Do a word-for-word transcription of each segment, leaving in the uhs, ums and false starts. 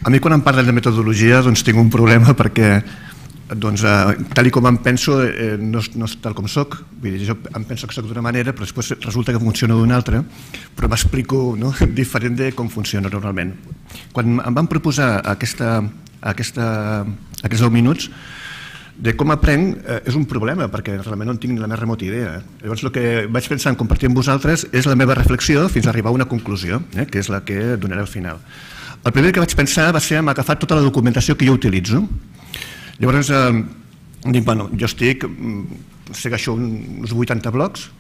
A mi quan em parlen de metodologia doncs tinc un problema perquè doncs, eh, tal com em penso eh, no, no és tal com soc. Vull dir, jo em penso que soc d'una manera però després resulta que funciona d'una altra, però m'explico, no? Diferent de com funciona normalment. Quan em van proposar aquesta, aquesta, aquests deu minuts de com aprenc eh, és un problema perquè realment no en tinc ni la més remota idea. Llavors el que vaig pensar en compartir amb vosaltres és la meva reflexió fins a arribar a una conclusió, eh, que és la que donaré al final. El primer que vaig pensar va ser en agafar tota la documentació que jo utilitzo. Llavors, eh, dic, bueno, jo estic, segueixo uns vuitanta blogs,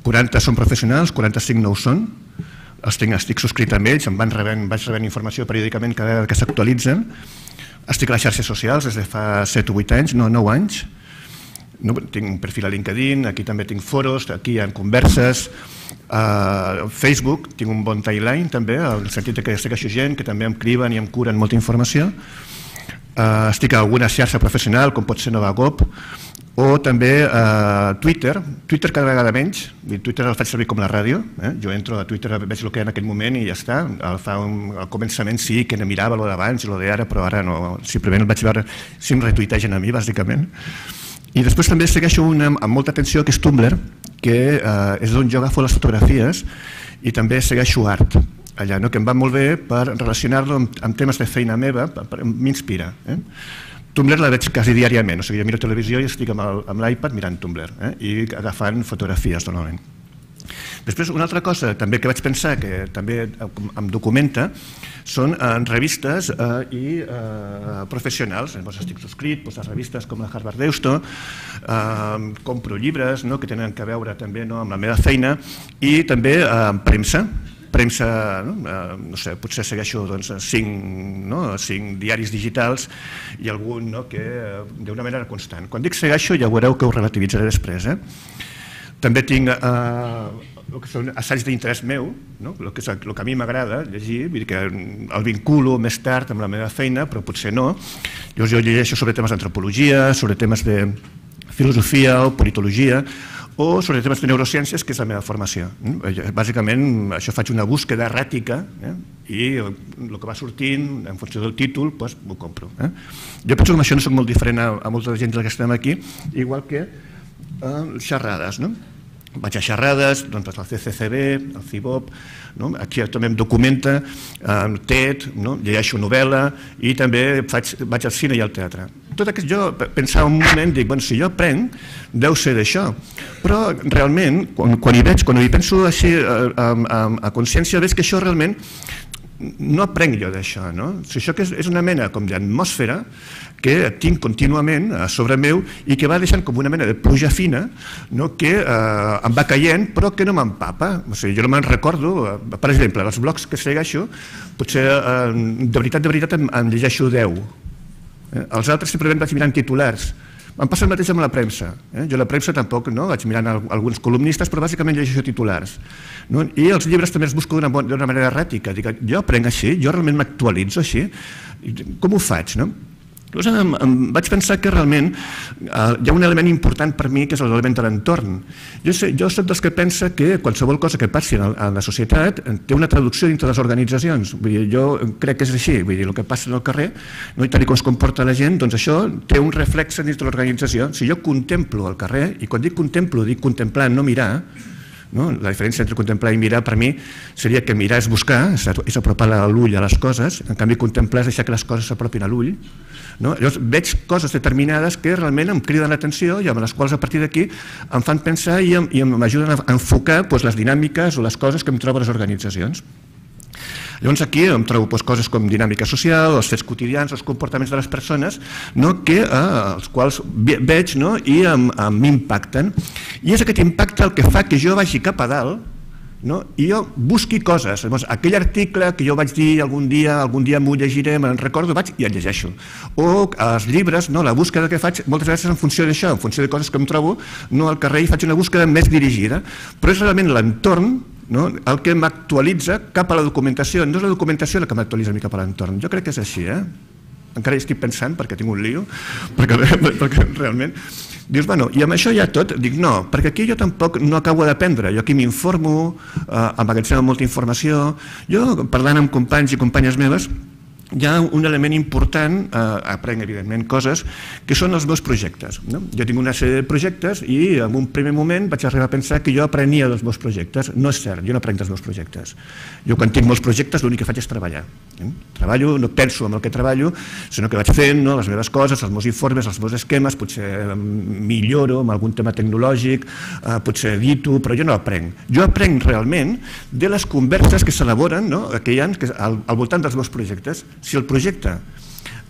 quaranta són professionals, quaranta-cinc no ho són, els tinc, estic subscrit amb ells, em van rebent, vaig rebent informació periòdicament cada vegada que s'actualitzen, estic a les xarxes socials des de fa set o vuit anys, no, nou anys, no, tinc un perfil a LinkedIn, aquí també tinc foros, aquí hi ha converses, a Facebook tinc un bon timeline també, en el sentit que segueixo gent que també em criben i em curen molta informació. Uh, estic a alguna xarxa professional, com pot ser Novagop, o també a uh, Twitter. Twitter cada vegada menys. Twitter el faig servir com la ràdio. Eh? Jo entro a Twitter, veig el que hi ha en aquell moment i ja està. Al, fa un, al començament sí que ne mirava el d'abans i el d'ara, però ara no. Simplement el vaig veure si em retuitegen a mi, bàsicament. I després també segueixo una, amb molta atenció, que és Tumblr, que uh, és on jo agafo les fotografies i també segueixo art. Allà, no? Que em va molt bé per relacionar-lo amb, amb temes de feina meva, m'inspira. Eh? Tumblr la veig quasi diàriament, o sigui, jo miro televisió i estic amb l'iPad mirant Tumblr eh? I agafant fotografies normalment. Després, una altra cosa també que vaig pensar que també em documenta són en revistes eh, i eh, professionals. Llavors estic subscrit doncs, a revistes com la Harvard Deusto, eh, compro llibres no? Que tenen a veure també no? Amb la meva feina i també eh, premsa. Premsa, no? No sé, potser segueixo doncs, cinc, no? cinc diaris digitals i algun no? Que d'una manera constant. Quan dic segueixo ja veureu que ho relativitzaré després. Eh? També tinc eh, el que són assaigs d'interès meu, no? el, que és el que a mi m'agrada llegir, vull dir que el vinculo més tard amb la meva feina, però potser no. Llavors jo llegeixo sobre temes d'antropologia, sobre temes de filosofia o politologia, o sobre temes de neurociències, que és la meva formació. Bàsicament, això faig una búsqueda erràtica eh? I el que va sortint, en funció del títol, doncs m'ho compro. Eh? Jo penso que amb això no soc molt diferent a, a molta gent que estem aquí, igual que eh, xerrades. No? Vaig a xerrades, doncs el C C C B, el C I B O P, no? Aquí també em documenta, eh, TED, no? Llegeixo novel·la i també faig, vaig al cine i al teatre. Tot aquest, jo pensava un moment, dic, bueno, si jo aprenc, deu ser d'això. Però realment, quan, quan hi veig, quan hi penso així a, a, a consciència, veig que això realment no aprenc jo d'això, no? Si això que és, és una mena com d'atmosfera que tinc contínuament a sobre meu i que va deixant com una mena de pluja fina no? Que eh, em va caient però que no m'empapa. O sigui, jo no me'n recordo, per exemple, els blogs que segueixo, potser eh, de veritat, de veritat em, em llegeixo deu. Eh? Els altres simplement vaig mirant titulars. Em passa el mateix amb la premsa. Eh? Jo la premsa tampoc no? Vaig mirant alguns columnistes, però bàsicament llegeixo titulars. No? I els llibres també els busco d'una manera erràtica. Dic, jo aprenc així, jo realment m'actualitzo així. Com ho faig? No? Llavors em, em vaig pensar que realment eh, hi ha un element important per mi que és l'element de l'entorn. Jo, sé, jo soc dels que pensa que qualsevol cosa que passi a la societat té una traducció dintre les organitzacions. Vull dir, jo crec que és així. Vull dir, el que passa al carrer no? I tal com es comporta la gent, doncs això té un reflex dins de l'organització. Si jo contemplo el carrer, i quan dic contemplo, dic contemplar, no mirar, no? La diferència entre contemplar i mirar per mi seria que mirar és buscar, és apropar l'ull a les coses, en canvi contemplar és deixar que les coses s'apropin a l'ull. No? Llavors veig coses determinades que realment em criden l'atenció i amb les quals a partir d'aquí em fan pensar i m'ajuden a enfocar doncs, les dinàmiques o les coses que em trobo a les organitzacions. Llavors aquí em trobo doncs, coses com dinàmica social, els fets quotidians, els comportaments de les persones, no? Que, eh, els quals veig no? I m'impacten. I és aquest impacte el que fa que jo vagi cap a dalt no? I jo busqui coses. Llavors, aquell article que jo vaig dir algun dia, algun dia m'ho llegiré, me'n recordo, vaig i el llegeixo. O els llibres, no? La búsqueda que faig moltes vegades en funció d'això, en funció de coses que em trobo no al carrer i faig una búsqueda més dirigida, però és realment l'entorn no? El que m'actualitza cap a la documentació. No és la documentació la que m'actualitza a mi cap a l'entorn. Jo crec que és així, eh? Encara hi estic pensant perquè tinc un lío, perquè, perquè realment... Dius, bueno, i amb això ja tot? Dic, no, perquè aquí jo tampoc no acabo d'aprendre. Jo aquí m'informo, eh, emmagatzemo molta informació. Jo, parlant amb companys i companyes meves, hi ha un element important, eh, aprenc evidentment coses, que són els meus projectes. No? Jo tinc una sèrie de projectes i en un primer moment vaig arribar a pensar que jo aprenia dels meus projectes. No és cert, jo no aprenc dels meus projectes. Jo quan tinc molts projectes l'únic que faig és treballar. Eh? Treballo, no penso en el que treballo, sinó que vaig fent, no, les meves coses, els meus informes, els meus esquemes, potser milloro amb algun tema tecnològic, eh, potser edito, però jo no aprenc. Jo aprenc realment de les converses que s'elaboren, no, que hi ha al, al voltant dels meus projectes. Si el projecte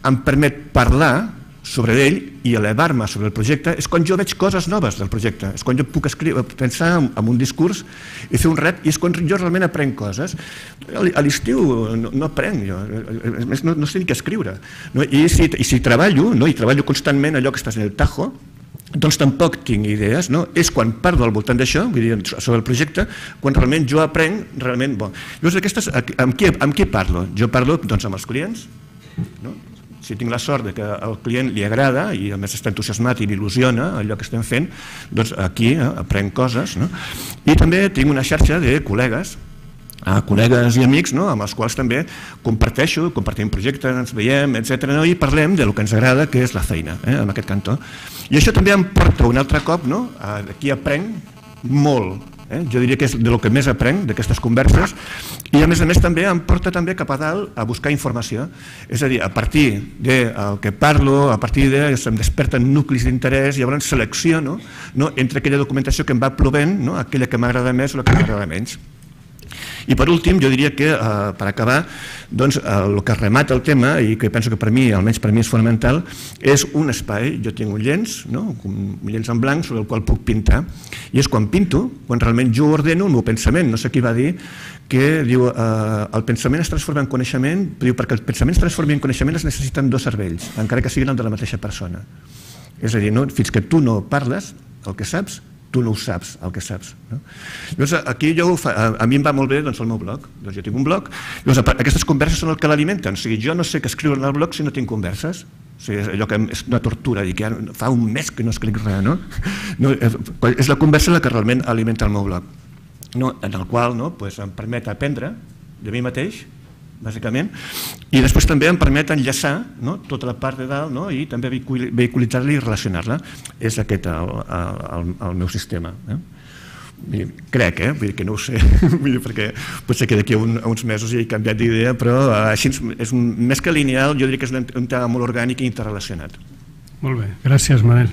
em permet parlar sobre ell i elevar-me sobre el projecte, és quan jo veig coses noves del projecte, és quan jo puc escriure, pensar en un discurs i fer un rep, i és quan jo realment aprenc coses. A l'estiu no, no aprenc jo, no, no sé ni què escriure. No? I, si, I si treballo, no? I treballo constantment allò que estàs en el tajo, doncs tampoc tinc idees, no? És quan parlo al voltant d'això, vull dir, sobre el projecte, quan realment jo aprenc realment bo. Llavors, aquestes, amb, qui, amb qui parlo? Jo parlo doncs, amb els clients, no? Si tinc la sort de que al client li agrada i a més està entusiasmat i l'il·lusiona allò que estem fent, doncs aquí eh, aprenc coses, no? I també tinc una xarxa de col·legues, a col·legues i amics, no? Amb els quals també comparteixo, compartim projectes, ens veiem, etcètera, no? I parlem del que ens agrada, que és la feina, eh? En aquest cantó. I això també em porta un altre cop, no? Aquí aprenc molt, eh? Jo diria que és del que més aprenc d'aquestes converses, i a més a més també em porta també cap a dalt a buscar informació, és a dir, a partir del que parlo, a partir de em desperten nuclis d'interès i llavors selecciono, no? Entre aquella documentació que em va plovent, no? Aquella que m'agrada més o la que m'agrada menys. I per últim, jo diria que, eh, per acabar, doncs, eh, el que remata el tema, i que penso que per mi, almenys per mi és fonamental, és un espai. Jo tinc un llenç, no? Un llenç en blanc sobre el qual puc pintar, i és quan pinto, quan realment jo ordeno el meu pensament. No sé qui va dir que diu, eh, el pensament es transforma en coneixement, diu, perquè el pensament es transformi en coneixement es necessiten dos cervells, encara que siguin el de la mateixa persona. És a dir, no? Fins que tu no parles el que saps, tu no ho saps, el que saps. No? Llavors, aquí jo fa, a, a mi em va molt bé doncs, el meu blog. Doncs jo tinc un blog. Llavors, aquestes converses són el que l'alimenten. O sigui, jo no sé què escriure en el blog si no tinc converses. O sigui, és allò que és una tortura, dir que ja fa un mes que no escric res, no? No, és la conversa la que realment alimenta el meu blog, no? En el qual no, pues, em permet aprendre de mi mateix, bàsicament, i després també em permet enllaçar, no? Tota la part de dalt, no? I també vehiculitzar-la i relacionar-la. És aquest el, el, el meu sistema. Eh? Crec, eh? Vull dir que no ho sé, vull dir, perquè potser que d'aquí a, un, a uns mesos ja he canviat d'idea, però així és un, més que lineal, jo diria que és un, un tema molt orgànic i interrelacionat. Molt bé, gràcies Manel.